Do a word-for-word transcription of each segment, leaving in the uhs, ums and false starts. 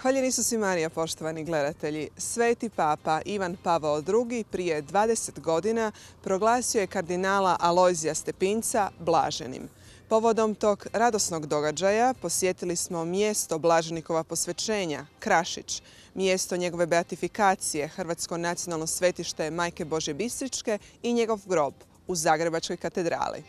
Hvaljen Isus i Marija, poštovani gledatelji. Sveti papa Ivan Pavao drugi prije dvadeset godina proglasio je kardinala Alojzija Stepinca blaženim. Povodom tog radosnog događaja posjetili smo mjesto blaženikova posvećenja, Krašić, mjesto njegove beatifikacije, Hrvatsko nacionalno svetište Majke Božje Bistričke i njegov grob u Zagrebačkoj katedrali.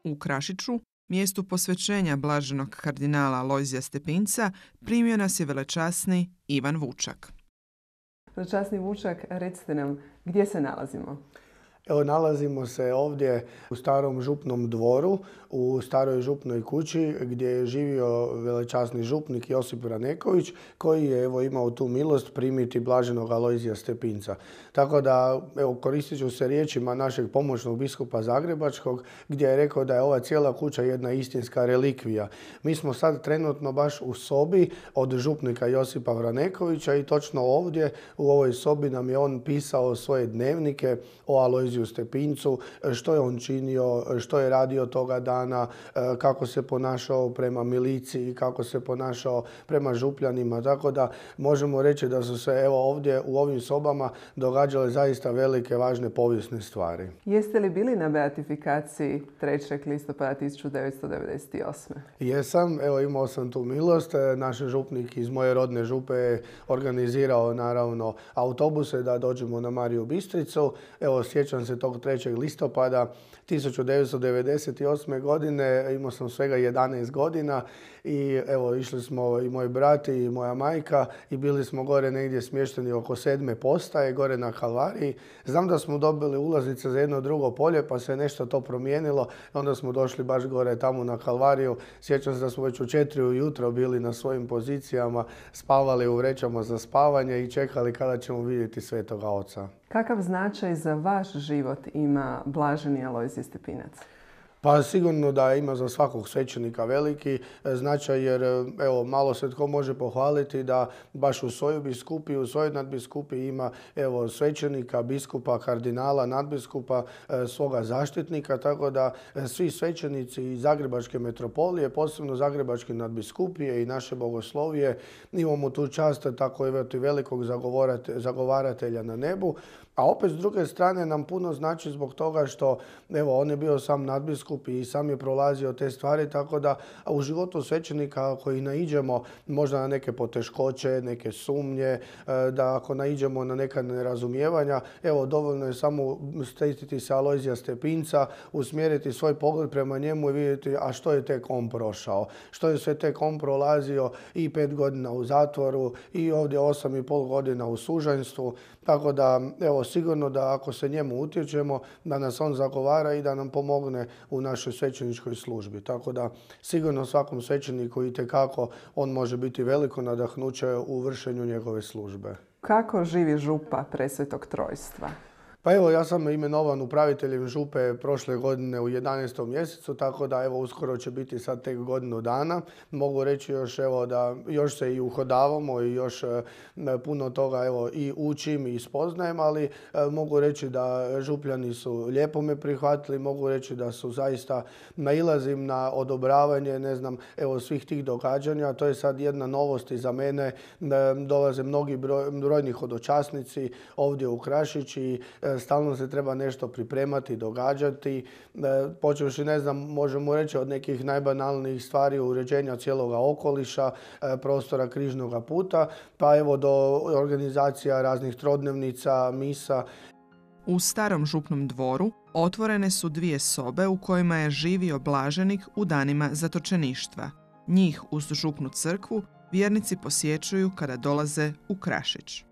U Krašiću, mjestu posvećenja blaženog kardinala Alojzija Stepinca, primio nas je velečasni Ivan Vučak. Velečasni Vučak, recite nam gdje se nalazimo? Evo, nalazimo se ovdje u starom župnom dvoru, u staroj župnoj kući gdje je živio velečasni župnik Josip Vraneković, koji je evo imao tu milost primiti blaženog Alojzija Stepinca. Tako da, evo, koristit ću se riječima našeg pomoćnog biskupa Zagrebačkog, gdje je rekao da je ova cijela kuća jedna istinska relikvija. Mi smo sad trenutno baš u sobi od župnika Josipa Vranekovića i točno ovdje u ovoj sobi nam je on pisao svoje dnevnike o Alojziju Stepincu, što je on činio, što je radio toga dana, kako se ponašao prema miliciji, kako se ponašao prema župljanima. Tako da možemo reći da su se evo ovdje u ovim sobama događale zaista velike, važne povijesne stvari. Jeste li bili na beatifikaciji trećeg listopada tisuću devetsto devedeset osme. Jesam, evo imao sam tu milost. Naš župnik iz moje rodne župe je organizirao naravno autobuse da dođemo na Mariju Bistricu. Evo, sjećam se tog trećeg listopada tisuću devetsto devedeset osme. godine, imao sam svega jedanaest godina i evo išli smo i moj brat i moja majka i bili smo gore negdje smješteni oko sedme postaje, gore na Kalvariji. Znam da smo dobili ulaznice za jedno drugo polje pa se nešto to promijenilo. Onda smo došli baš gore tamo na Kalvariju. Sjećam se da smo već u četiri ujutro bili na svojim pozicijama, spavali u vrećama za spavanje i čekali kada ćemo vidjeti Svetoga Oca. Kakav značaj za vaš život ima blaženi Alojzije Stepinac? Pa sigurno da ima za svakog svećenika veliki značaj, jer evo, malo se tko može pohvaliti da baš u svojoj biskupiji, u svojoj nadbiskupiji ima evo, svećenika, biskupa, kardinala, nadbiskupa, svoga zaštitnika, tako da svi svećenici iz Zagrebačke metropolije, posebno Zagrebačke nadbiskupije i naše bogoslovije, imamo tu čast tako evo, velikog zagovaratelja na nebu. A opet s druge strane nam puno znači zbog toga što evo, on je bio sam nadbiskup i sam je prolazio te stvari, tako da u životu svećenika ako i naiđemo možda na neke poteškoće, neke sumnje, da ako naiđemo na neka nerazumijevanja, evo dovoljno je samo sjetiti se Alojzija Stepinca, usmjeriti svoj pogled prema njemu i vidjeti a što je tek on prošao, što je sve tek on prolazio i pet godina u zatvoru i ovdje osam i pol godina u sužanjstvu, tako da evo sigurno da ako se njemu utječemo da nas on zagovara i da nam pomogne u našoj svećeničkoj službi. Tako da sigurno svakom svećeniku itekako on može biti veliko nadahnuće u vršenju njegove službe. Kako živi župa Presvetog Trojstva? Pa evo, ja sam imenovan upraviteljem župe prošle godine u jedanaestom mjesecu, tako da evo uskoro će biti sad tek godinu dana. Mogu reći još evo da još se i uhodavamo i još e, puno toga evo i učim i spoznajem, ali e, mogu reći da župljani su lijepo me prihvatili, mogu reći da su zaista nailazim na odobravanje, ne znam, evo svih tih događanja. To je sad jedna novost i za mene. E, dolaze mnogi broj, brojni hodočasnici ovdje u Krašić i e, stalno se treba nešto pripremati, događati. Počevši, ne znam, možemo reći od nekih najbanalnijih stvari uređenja cijeloga okoliša, prostora križnog puta, pa evo do organizacija raznih trodnevnica, misa. U starom župnom dvoru otvorene su dvije sobe u kojima je živio blaženik u danima zatočeništva. Njih uz župnu crkvu vjernici posjećuju kada dolaze u Krašić.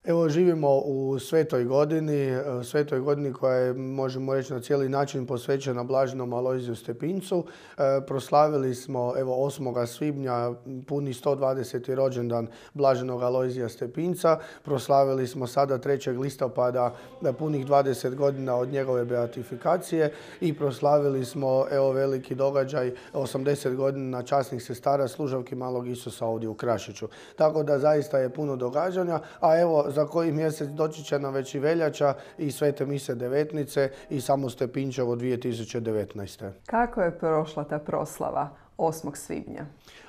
Evo, živimo u Svetoj godini, Svetoj godini koja je, možemo reći, na cijeli način posvećena Blaženom Alojziju Stepincu. E, proslavili smo, evo, osmog svibnja puni sto dvadeseti rođendan Blaženog Alojzija Stepinca. Proslavili smo sada trećeg listopada punih dvadeset godina od njegove beatifikacije i proslavili smo, evo, veliki događaj, osamdeset godina časnih sestara služavki Malog Isusa ovdje u Krašiću. Tako da zaista je puno događanja, a evo, za koji mjesec doći će nam već i veljača i Svete mise devetnice i samo Stepinčevo dvije tisuće devetnaeste. Kako je prošla ta proslava osmog svibnja?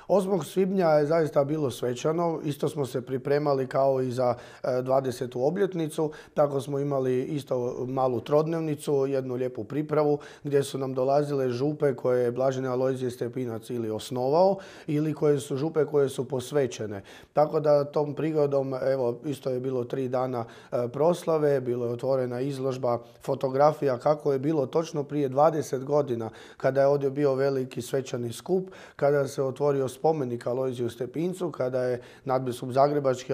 osmog svibnja je zaista bilo svečano. Isto smo se pripremali kao i za dvadesetu obljetnicu. Tako smo imali isto malu trodnevnicu, jednu lijepu pripravu gdje su nam dolazile župe koje je Blaženi Alojzije Stepinac ili osnovao ili koje su župe koje su posvećene. Tako da tom prigodom, evo, isto je bilo tri dana proslave, bilo je otvorena izložba fotografija kako je bilo točno prije dvadeset godina kada je ovdje bio veliki svečani skup, kada se otvorio spomenik Alojziju Stepincu, kada je nadbiskup zagrebački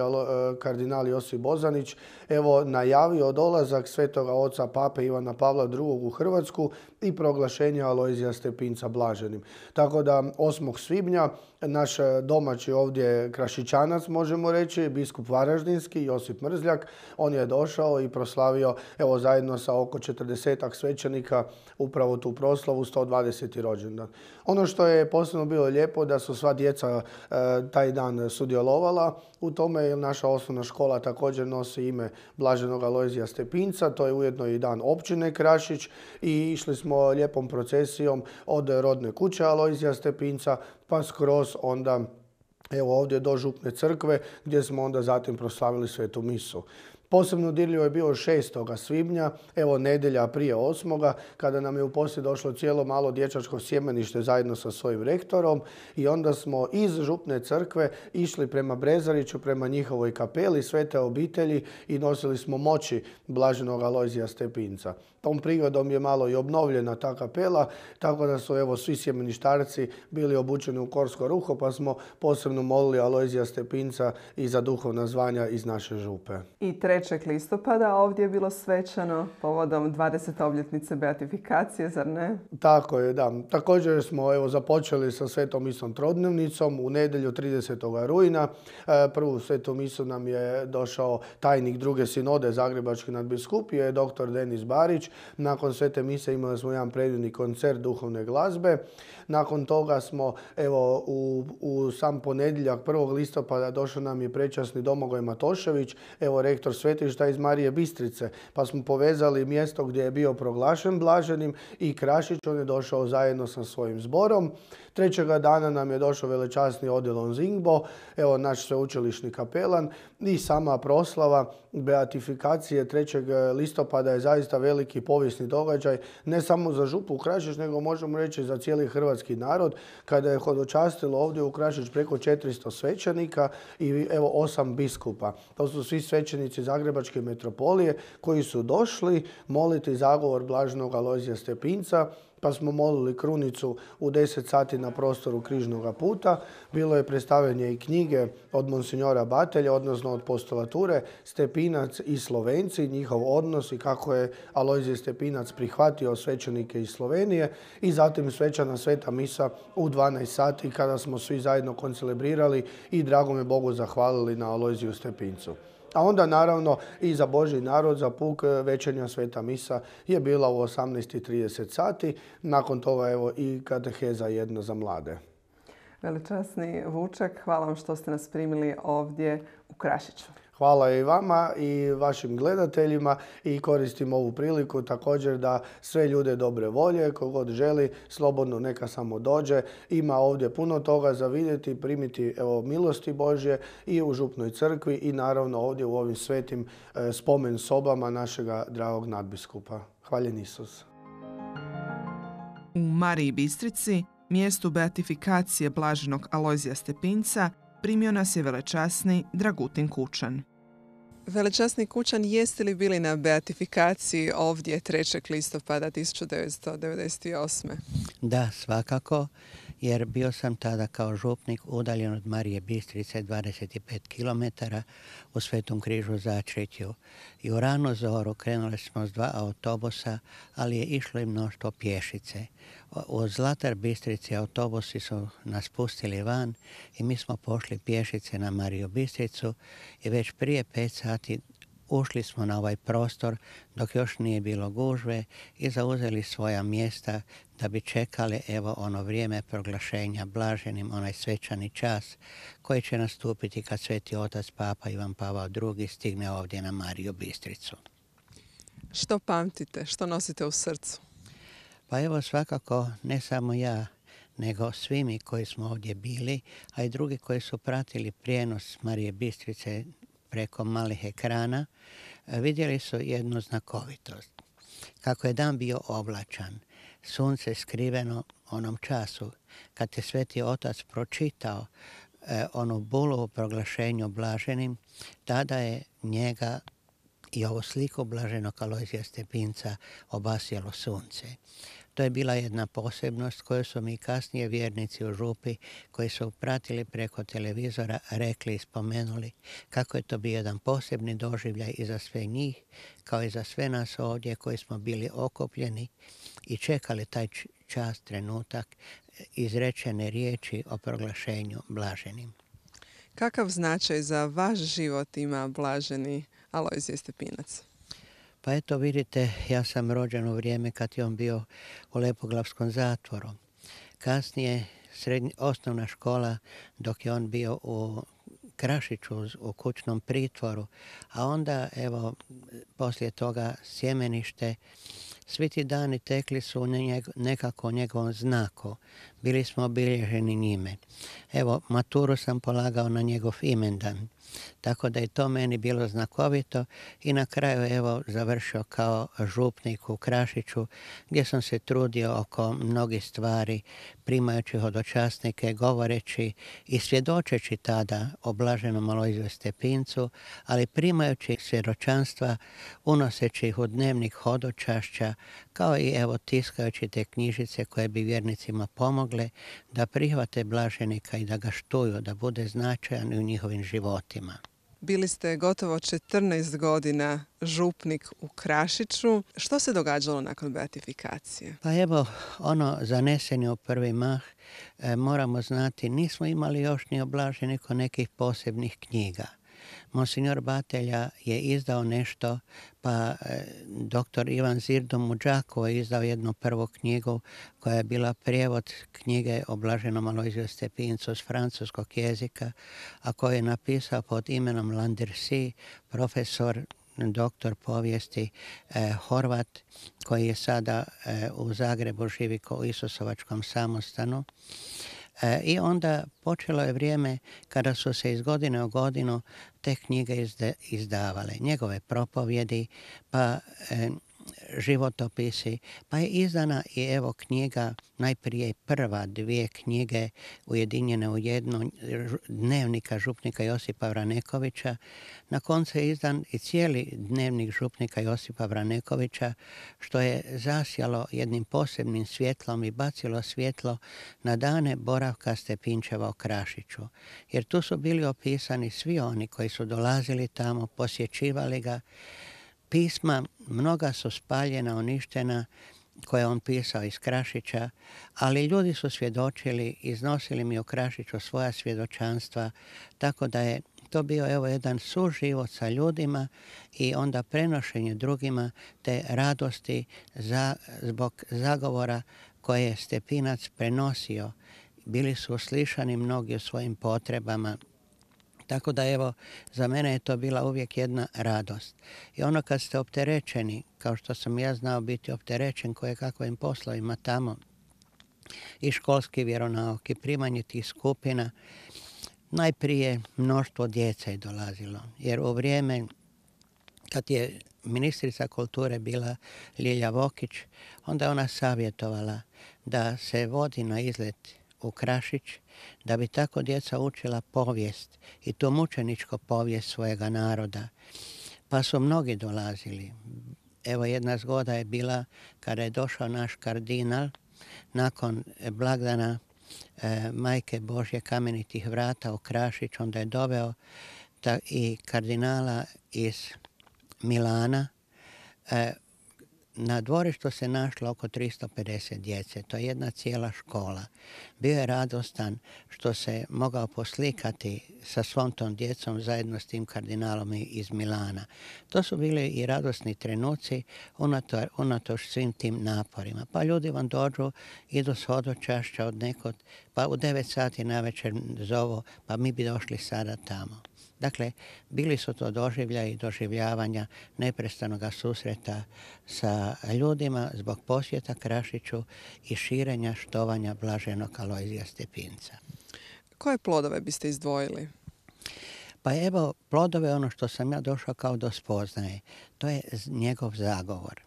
kardinal Josip Bozanić evo najavio dolazak svetoga oca pape Ivana Pavla drugog u Hrvatsku i proglašenje Alojzija Stepinca blaženim. Tako da osmog svibnja naš domaći ovdje Krašićanac, možemo reći, biskup Varaždinski Josip Mrzljak, on je došao i proslavio, evo, zajedno sa oko četrdesetak svećenika upravo tu proslavu sto dvadeseti rođendan. Ono što je posebno bilo lijepo da su sva djeca e, taj dan sudjelovala u tome, jer naša osnovna škola također nosi ime Blaženog Alojzija Stepinca, to je ujedno i dan općine Krašić i išli smo lijepom procesijom od rodne kuće Alojzija Stepinca pa skroz onda evo ovdje do Župne crkve gdje smo onda zatim proslavili svetu misu. Posebno dirljivo je bilo šestoga svibnja, evo nedjelja prije osmoga, kada nam je u posjed došlo cijelo malo dječačko sjemenište zajedno sa svojim rektorom i onda smo iz Župne crkve išli prema Brezariću, prema njihovoj kapeli Svete obitelji i nosili smo moći Blaženog Alojzija Stepinca. Tom prigodom je malo i obnovljena ta kapela, tako da su evo svi sjemeništarci bili obučeni u korsko ruho, pa smo posebno molili Alojzija Stepinca i za duhovna zvanja iz naše župe. I trećeg listopada ovdje je bilo svečano povodom dvadesete obljetnice beatifikacije, zar ne? Tako je, da. Također smo evo započeli sa svetom misom trodnevnicom u nedjelju tridesetog rujna. Prvu svetu misu nam je došao tajnik druge sinode Zagrebački nadbiskupije, doktor Denis Barić. Nakon svete mise imali smo jedan predivni koncert duhovne glazbe. Nakon toga smo evo u, u sam ponedjeljak prvog listopada došao nam je prečasni Domagoj Matošević, evo rektor svetišta iz Marije Bistrice, pa smo povezali mjesto gdje je bio proglašen blaženim i Krašić, on je došao zajedno sa svojim zborom. Trećega dana nam je došao velečasni Odilon Zingbo, evo naš sveučilišni kapelan i sama proslava beatifikacije trećeg listopada je zaista veliki povijesni događaj, ne samo za župu Krašić, nego možemo reći za cijeli hrvatski narod, kada je hodočastilo ovdje u Krašić preko četiristo svećenika i evo osam biskupa. To su svi svećenici Zagrebačke metropolije koji su došli moliti zagovor Blaženog Alojzija Stepinca, pa smo molili krunicu u deset sati na prostoru Križnoga puta. Bilo je predstavljanje i knjige od monsinjora Batelja, odnosno od postulature Stepinac i Slovenci, njihov odnos i kako je Alojzije Stepinac prihvatio svećenike iz Slovenije i zatim svečana sveta misa u dvanaest sati kada smo svi zajedno koncelebrirali i dragome Bogu zahvalili na Alojziju Stepincu. A onda naravno i za Božji narod, za puk večernja sveta misa je bila u osamnaest i trideset sati. Nakon toga evo i kateheza jedna za mlade. Veličasni Vučak, hvala vam što ste nas primili ovdje u Krašiću. Hvala i vama i vašim gledateljima i koristim ovu priliku također da sve ljude dobre volje, kogod želi, slobodno neka samo dođe. Ima ovdje puno toga za vidjeti, primiti evo, milosti Božje i u Župnoj crkvi i naravno ovdje u ovim svetim e, spomen sobama našega dragog nadbiskupa. Hvaljen Isus. U Mariji Bistrici, mjestu beatifikacije Blaženog Alojzija Stepinca, primio nas je velečasni Dragutin Kučan. Velečasni Kučan, jeste li bili na beatifikaciji ovdje trećeg listopada tisuću devetsto devedeset osme. Da, svakako. jer bio sam tada kao župnik udaljen od Marije Bistrice dvadeset pet kilometara u Svetom Križu Začretju. I u ranu zoru krenuli smo s dva autobusa, ali je išlo i mnoštvo pješice. U Zlatar Bistrici autobusi su nas pustili van i mi smo pošli pješice na Mariju Bistricu i već prije pet sati ušli smo na ovaj prostor dok još nije bilo gužve i zauzeli svoja mjesta da bi čekali evo ono vrijeme proglašenja blaženim, onaj svečani čas koji će nastupiti kad Sveti Otac Papa Ivan Pavao drugi stigne ovdje na Mariju Bistricu. Što pamtite? Što nosite u srcu? Pa evo svakako ne samo ja, nego svi mi koji smo ovdje bili, a i drugi koji su pratili prijenos Marije Bistrice preko malih ekrana, vidjeli su jednu znakovitost. Kako je dan bio oblačan, sunce skriveno onom času, kad je Sveti Otac pročitao eh, onu bulu u proglašenju blaženim, tada je njega i ovu sliku blaženog Alojzija Stepinca obasjalo sunce. To je bila jedna posebnost koju su mi kasnije vjernici u župi koji su pratili preko televizora rekli i spomenuli kako je to bio jedan posebni doživljaj i za sve njih kao i za sve nas ovdje koji smo bili okupljeni i čekali taj čas, trenutak izrečene riječi o proglašenju blaženim. Kakav značaj za vaš život ima blaženi Alojzije Stepinac? Pa eto vidite, ja sam rođen u vrijeme kad je on bio u Lepoglavskom zatvoru. Kasnije srednja, osnovna škola dok je on bio u Krašiću u kućnom pritvoru, a onda evo poslije toga sjemenište. Svi ti dani tekli su nekako u njegovom znaku. Bili smo obilježeni njime. Evo, maturu sam polagao na njegov imendan. Tako da je to meni bilo znakovito i na kraju evo završio kao župnik u Krašiću gdje sam se trudio oko mnogih stvari primajući hodočasnike, govoreći i svjedočeći tada o blaženom Alojziju Stepincu, ali primajući svjedočanstva, unoseći ih u dnevnik hodočašća, kao i evo tiskajući te knjižice koje bi vjernicima pomogle da prihvate blaženika i da ga štuju, da bude značajan u njihovim životima. Bili ste gotovo četrnaest godina župnik u Krašiću. Što se događalo nakon beatifikacije? Pa evo, ono zanesenje u prvi mah, e, moramo znati, nismo imali još ni oblaženiko nekih posebnih knjiga. Monsignor Batelja je izdao nešto, pa e, doktor Ivan Zirdom u Đakovu je izdao jednu prvu knjigu koja je bila prijevod knjige o blaženom Alojziju Stepincu s francuskog jezika, a koju je napisao pod imenom Landersi, profesor doktor povijesti eh, Horvat, koji je sada eh, u Zagrebu živi u Isusovačkom samostanu. E, I onda počelo je vrijeme kada su se iz godine u godinu te knjige izde, izdavale. Njegove propovjedi, pa e, životopisi, pa je izdana i evo knjiga, najprije prva dvije knjige ujedinjene u jednu, dnevnika župnika Josipa Vranekovića. Na koncu je izdan i cijeli dnevnik župnika Josipa Vranekovića, što je zasjalo jednim posebnim svjetlom i bacilo svjetlo na dane boravka Stepinčeva u Krašiću. Jer tu su bili opisani svi oni koji su dolazili tamo, posjećivali ga. Pisma, mnoga su spaljena, uništena, koje on pisao iz Krašića, ali ljudi su svjedočili, iznosili mi u Krašiću svoja svjedočanstva, tako da je to bio evo jedan suživot sa ljudima i onda prenošenje drugima te radosti za, zbog zagovora koje je Stepinac prenosio. Bili su uslišani mnogi u svojim potrebama. Tako da evo, za mene je to bila uvijek jedna radost. I ono kad ste opterećeni, kao što sam ja znao biti opterećen koje kakvim poslovima tamo, i školski vjeronauk i primanje tih skupina, najprije mnoštvo djece je dolazilo. Jer u vrijeme kad je ministrica kulture bila Ljilja Vokić, onda je ona savjetovala da se vodi na izlet u Krašić, da bi tako djeca učila povijest i tu mučeničku povijest svojega naroda. Pa su mnogi dolazili. Evo jedna zgoda je bila kada je došao naš kardinal nakon blagdana e, Majke Božje kamenitih vrata u Krašić, onda je doveo ta, i kardinala iz Milana. E, Na dvorištu se našlo oko tristo pedeset djece, to je jedna cijela škola. Bio je radostan što se mogao poslikati sa svom tom djecom zajedno s tim kardinalom iz Milana. To su bili i radosni trenuci unato, unatoč svim tim naporima. Pa ljudi vam dođu, idu s hodočašća od nekod, pa u devet sati navečer zovu, pa mi bi došli sada tamo. Dakle, bili su to doživljaji i doživljavanja neprestanoga susreta sa ljudima zbog posjeta Krašiću i širenja štovanja blaženog Alojzija Stepinca. Koje plodove biste izdvojili? Pa evo, plodove ono što sam ja došao kao do spoznaje, to je njegov zagovor.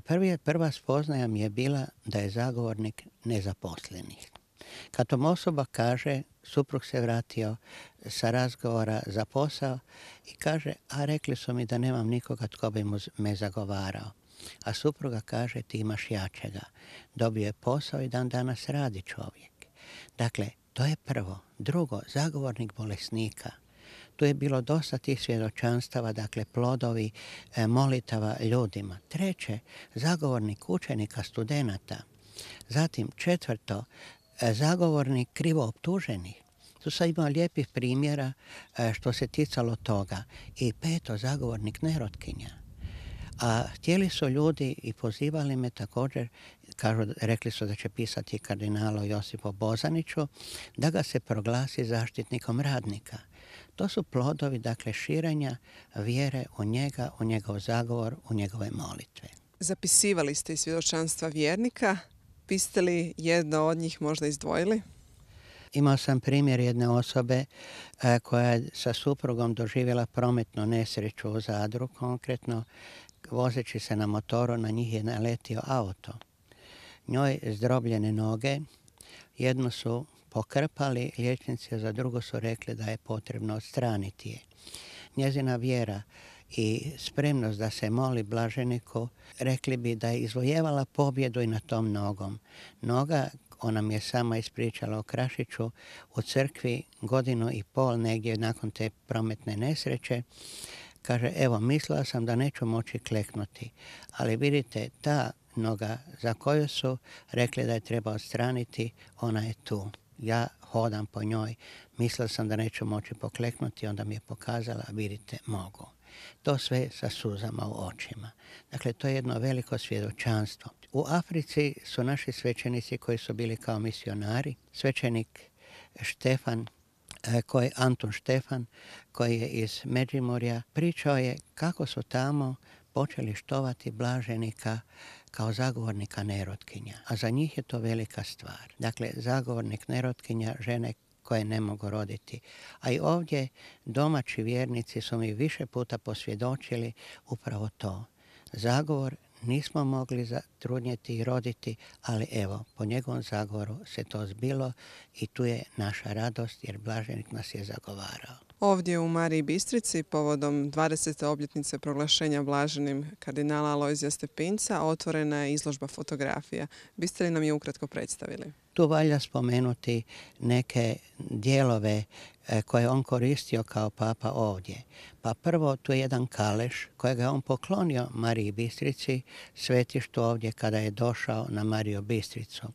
Prvi, prva spoznaja mi je bila da je zagovornik nezaposlenih. Kad tom osoba kaže, suprug se vratio sa razgovora za posao i kaže, a rekli su mi da nemam nikoga tko bi mu me zagovarao. A supruga kaže, ti imaš jačega. Dobio je posao i dan danas radi čovjek. Dakle, to je prvo. Drugo, zagovornik bolesnika. Tu je bilo dosta tih svjedočanstava, dakle plodovi e, molitava ljudima. Treće, zagovornik učenika, studenata. Zatim četvrto, zagovornik krivo optuženih. Tu sam imao lijepih primjera što se ticalo toga. I peto, zagovornik nerotkinja. A htjeli su ljudi i pozivali me također, kažu, rekli su da će pisati kardinalu Josipu Bozaniću, da ga se proglasi zaštitnikom radnika. To su plodovi, dakle, širenja vjere u njega, u njegov zagovor, u njegove molitve. Zapisivali ste i svjedočanstva vjernika. Biste li jedno od njih možda izdvojili? Imao sam primjer jedne osobe a, koja je sa suprugom doživjela prometnu nesreću u Zadru, konkretno vozeći se na motoru, na njih je naletio auto. Njoj zdrobljene noge, jednu su pokrpali liječnici, a za drugu su rekli da je potrebno odstraniti je. Njezina vjera i spremnost da se moli blaženiku, rekli bi da je izvojevala pobjedu i na tom nogom. Noga, ona mi je sama ispričala o Krašiću, u crkvi godinu i pol negdje nakon te prometne nesreće, kaže, evo, mislila sam da neću moći kleknuti, ali vidite, ta noga za koju su rekli da je treba odstraniti, ona je tu. Ja hodam po njoj, mislila sam da neću moći pokleknuti, onda mi je pokazala, vidite, mogu. To sve sa suzama u očima. Dakle, to je jedno veliko svjedočanstvo. U Africi su naši svećenici koji su bili kao misionari. Svećenik Štefan, koji, Antun Štefan, koji je iz Međimurja, pričao je kako su tamo počeli štovati blaženika kao zagovornika nerotkinja. A za njih je to velika stvar. Dakle, zagovornik nerotkinja, žene koje ne mogu roditi. A i ovdje domaći vjernici su mi više puta posvjedočili upravo to. Zagovor nismo mogli zatrudnjeti i roditi, ali evo, po njegovom zagovoru se to zbilo i tu je naša radost jer blaženik nas je zagovarao. Ovdje u Mariji Bistrici povodom dvadesete obljetnice proglašenja blaženim kardinala Alojzija Stepinca otvorena je izložba fotografija. Biste li nam je ukratko predstavili? Tu valja spomenuti neke dijelove koje je on koristio kao papa ovdje. Pa prvo, tu je jedan kaleš kojega je on poklonio Mariji Bistrici, svetištu ovdje kada je došao na Mariju Bistricu.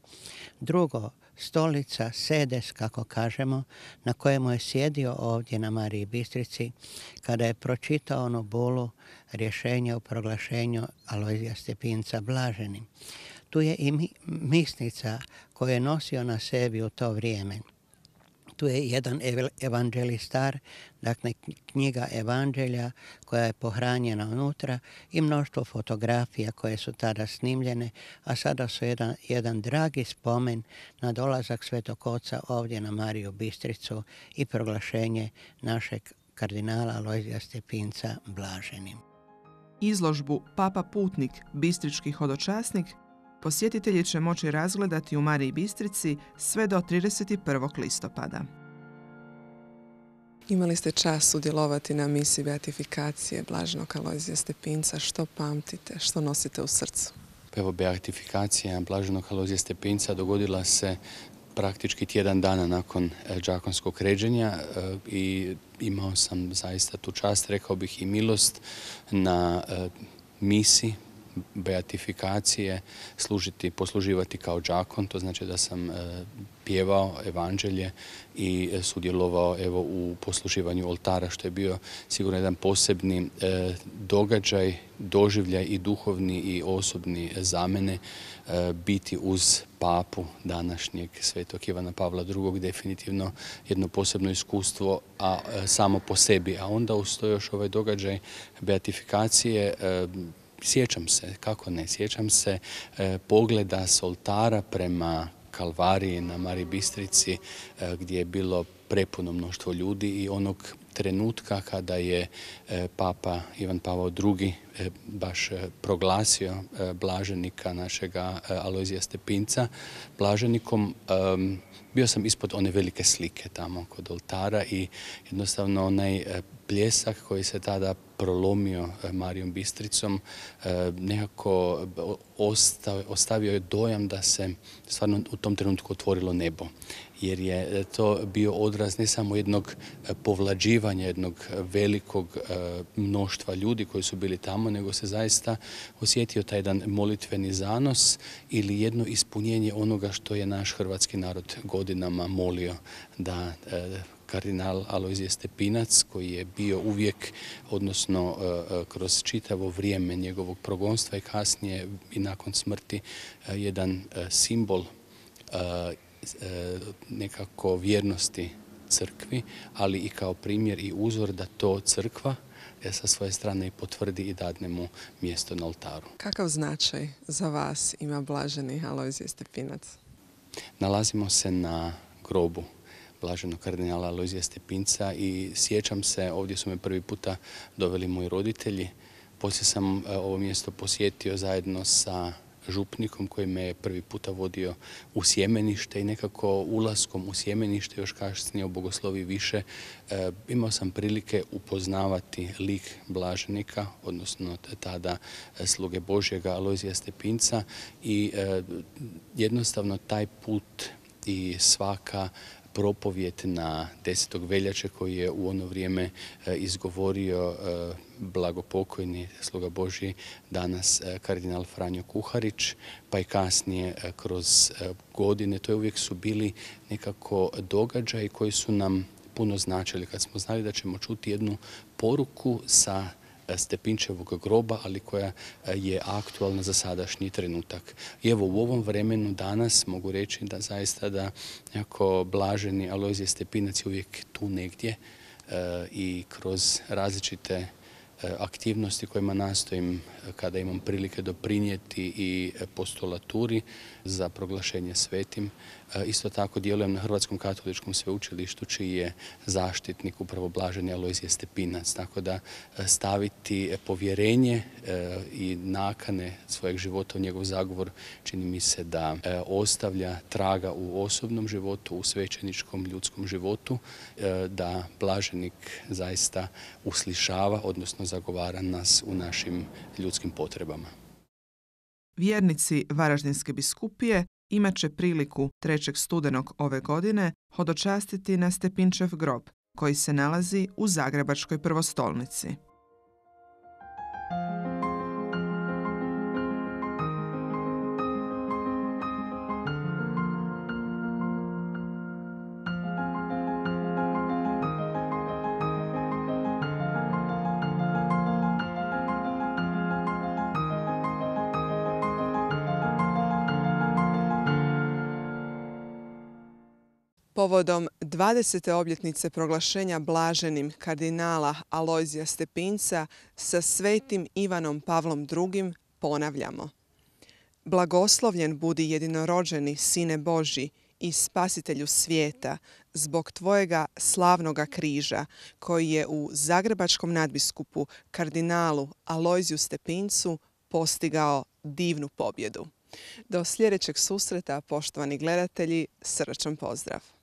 Drugo, stolica, sedes, kako kažemo, na kojemu je sjedio ovdje na Mariji Bistrici kada je pročitao onu bulu rješenja o proglašenju Alojzija Stepinca blaženim. Tu je i misnica koju je nosio na sebi u to vrijeme. Tu je jedan evanđelistar, dakle knjiga evanđelja koja je pohranjena unutra i mnoštvo fotografija koje su tada snimljene, a sada su jedan, jedan dragi spomen na dolazak Svetog Oca ovdje na Mariju Bistricu i proglašenje našeg kardinala Alojzija Stepinca blaženim. Izložbu Papa Putnik, bistrički hodočasnik, posjetitelji će moći razgledati u Mariji Bistrici sve do trideset prvog listopada. Imali ste čast sudjelovati na misiji beatifikacije blaženog Alojzija Stepinca. Što pamtite, što nosite u srcu? Evo, beatifikacija blaženog Alojzija Stepinca dogodila se praktički tjedan dana nakon đakonskog ređenja i imao sam zaista tu čast, rekao bih i milost na misi beatifikacije služiti, posluživati kao đakon. To znači da sam pjevao evanđelje i sudjelovao evo u posluživanju oltara, što je bio sigurno jedan posebni događaj, doživljaj i duhovni i osobni za mene. Biti uz papu današnjeg svetog Ivana Pavla drugog definitivno jedno posebno iskustvo, a samo po sebi. A onda uz to još ovaj događaj beatifikacije. Sjećam se, kako ne, sjećam se pogleda s oltara prema Kalvariji na Mariji Bistrici gdje je bilo prepuno mnoštvo ljudi i onog trenutka kada je Papa Ivan Pavao drugi baš proglasio blaženika našega Alojzija Stepinca blaženikom. Bio sam ispod one velike slike tamo kod oltara i jednostavno onaj pljesak koji se tada prolomio Marijom Bistricom nekako ostavio je dojam da se stvarno u tom trenutku otvorilo nebo. Jer je to bio odraz ne samo jednog povlađivanja, jednog velikog mnoštva ljudi koji su bili tamo, nego se zaista osjetio taj jedan molitveni zanos ili jedno ispunjenje onoga što je naš hrvatski narod godinama molio, da kardinal Alojzije Stepinac, koji je bio uvijek, odnosno kroz čitavo vrijeme njegovog progonstva i kasnije i nakon smrti, jedan simbol nekako vjernosti crkvi, ali i kao primjer i uzor da to crkva sa svoje strane i potvrdi i dadne mu mjesto na oltaru. Kakav značaj za vas ima blaženi Alojzije Stepinac? Nalazimo se na grobu blaženog kardinala Alojzija Stepinca i sjećam se, ovdje su me prvi puta doveli moji roditelji. Poslije sam ovo mjesto posjetio zajedno sa župnikom koji me je prvi puta vodio u sjemenište i nekako ulaskom u sjemenište, još kasnije u bogoslovi više, e, imao sam prilike upoznavati lik blaženika, odnosno tada sluge Božjega Alojzija Stepinca i e, jednostavno taj put i svaka propovjed na desetog veljače koji je u ono vrijeme izgovorio blagopokojni sluga Božji, danas kardinal Franjo Kuharić, pa i kasnije kroz godine. To je uvijek su bili nekako događaji koji su nam puno značili kad smo znali da ćemo čuti jednu poruku sa Stepinčevog groba, ali koja je aktualna za sadašnji trenutak. I evo u ovom vremenu danas mogu reći da zaista da jako blaženi Alojzije Stepinac je uvijek tu negdje i kroz različite aktivnosti kojima nastojim kada imam prilike doprinijeti i postulaturi za proglašenje svetim. Isto tako djelujem na Hrvatskom katoličkom sveučilištu čiji je zaštitnik upravo blaženi Alojzije Stepinac. Tako da staviti povjerenje i nakane svojeg života u njegov zagovor čini mi se da ostavlja traga u osobnom životu, u svećeničkom ljudskom životu, da blaženik zaista uslišava, odnosno zagovara nas u našim ljudskim potrebama. Vjernici Varaždinske biskupije imat će priliku trećeg studenog ove godine hodočastiti na Stepinčev grob, koji se nalazi u Zagrebačkoj prvostolnici. Povodom dvadesete obljetnice proglašenja blaženim kardinala Alojzija Stepinca sa svetim Ivanom Pavlom drugim ponavljamo: Blagoslovljen budi jedinorođeni Sine Božji i Spasitelju svijeta zbog tvojega slavnoga križa koji je u zagrebačkom nadbiskupu kardinalu Alojziju Stepincu postigao divnu pobjedu. Do sljedećeg susreta, poštovani gledatelji, srdačan pozdrav!